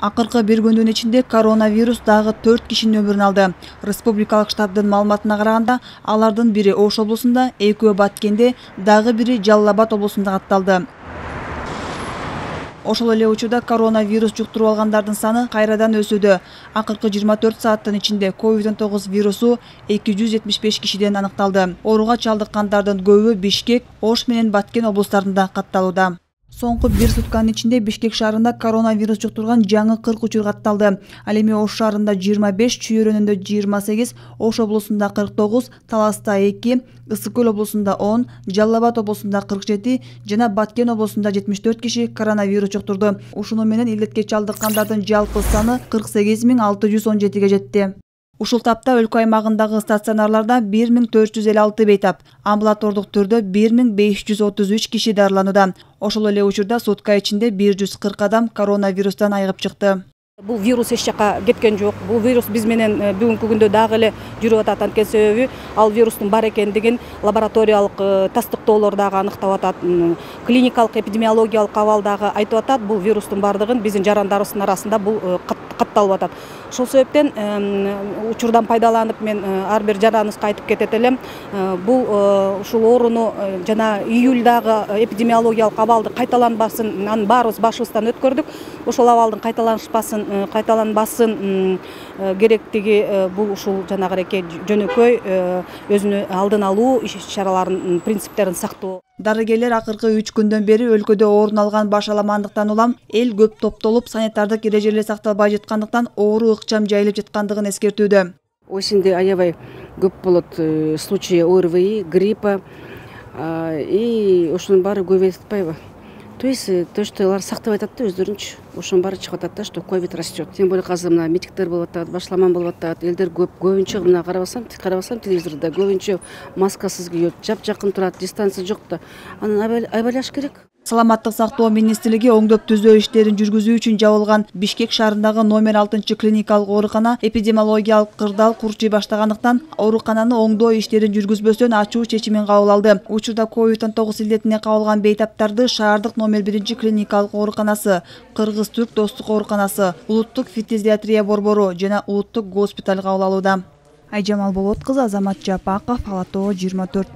Акыркы бир күндүн ичинде коронавирус дагы 4 кишинин өмүрүн алды. Республикалык штабдын маалыматына караганда, алардын бири Ош облусунда, экөө Баткенде, дагы бири Жалал Абад облусунда катталды. Ошол эле учурда коронавирус жуктуруп алгандардын саны кайрадан өсүүдө. Акыркы 24 сааттын ичинде COVID-19 вирусу 275 кишиден аныкталды. Ооруга чалдыккандардын көбү Бишкек, Ош менен Баткен облустарында катталууда. Соңку бир сутканын ичинде Бишкек шаарында коронавирус жуктурган жаңы 40 учур катталды. Ал эми Ош шаарында 25, Чүй-Өрөнүндө 28, Ош облусунда 49, Таласта 2, Ысык Көл облусунда 10, Жалал Абад облусунда 47 жана Баткен облусунда 74 киши коронавирус жуктурду. Ушуну менен илдетке чалдыккандардын жалпы саны 48617ге жетти. Ушул тапта өлкө аймагындагы стационарларда 1456 бейтап, амбулатордук түрдө 1533 киши дарыланууда. Ошол эле учурда сутка ичинде 140 адам коронавирустан айыгып чыкты. Бул вирус эч жака кеткен жок. Бул вирус биз менен бүгүнкү күндө дагы эле жүрүп атат. Анткени себеби ал вирустун бар экендигин лабораториялык тастыктоолор дагы аныктап атат. Клиникалык эпидемиологиялык абал дагы айтып атат. Бул вирустун бардыгын биздин жарандарыбыздын арасында бул катталып атат. Ошол себептен учурдан пайдаланып мен ар бир жараныбызга айтып кетет элем. Бул ушул ооруну жана июлдагы эпидемиологиялык абалды кайталанбасын, анын баарыбыз башыбыздан өткөрдүк. Ошол абалдын кайталанбасын керектиги бул ушул жанагыреке жөнөкөй өзүнү алдын алуу иш-чараларынын принциптерин сактоо. Дарыгерлер акыркы 3 күндөн бери өлкөдө орун алган башаламандыктан улам эл көп топтолуп, санитардык эрежелер сакталбай жаткандыктан оору ыкчам жайылып жаткандыгын эскертүүдө. Осенде аябай көп болот случаи ОРВИ, гриппа и ошонун баары көбөйүп атпайбы? То есть то, что алар сактап атат да өздөрүнчү, ошонун баары чыгып атат да, что ковид растет. Тем более азыр мына митингдер болуп атат, башаламан болуп атат, элдер көбүнчө мына карабасам телевизордо көбүнчө маскасыз кийет, жакын турат, дистанция жок да. Анан айбалаш керек. Саламаттык сактоо министрлиги оңдоп түзөө иштерин жүргүзүү үчүн жабылган Бишкек шаарындагы номер 6 клиникалык оорукана эпидемиологиялык кырдаал курчуй баштагандыктан оорукананы оңдоо иштерин жүргүзбөстөн ачуу чечимин кабыл алды. Учурда COVID-19 илдетине кабылган бейтаптарды шаардык номер 1 клиникалык ооруканасы, Кыргыз-Түрк достук ооруканасы, улуттук фитизиатрия борбору жана улуттук госпиталь кабыл алууда. Айжамал Болот кызы, Азамат Жапаков, Ала Тоо 24.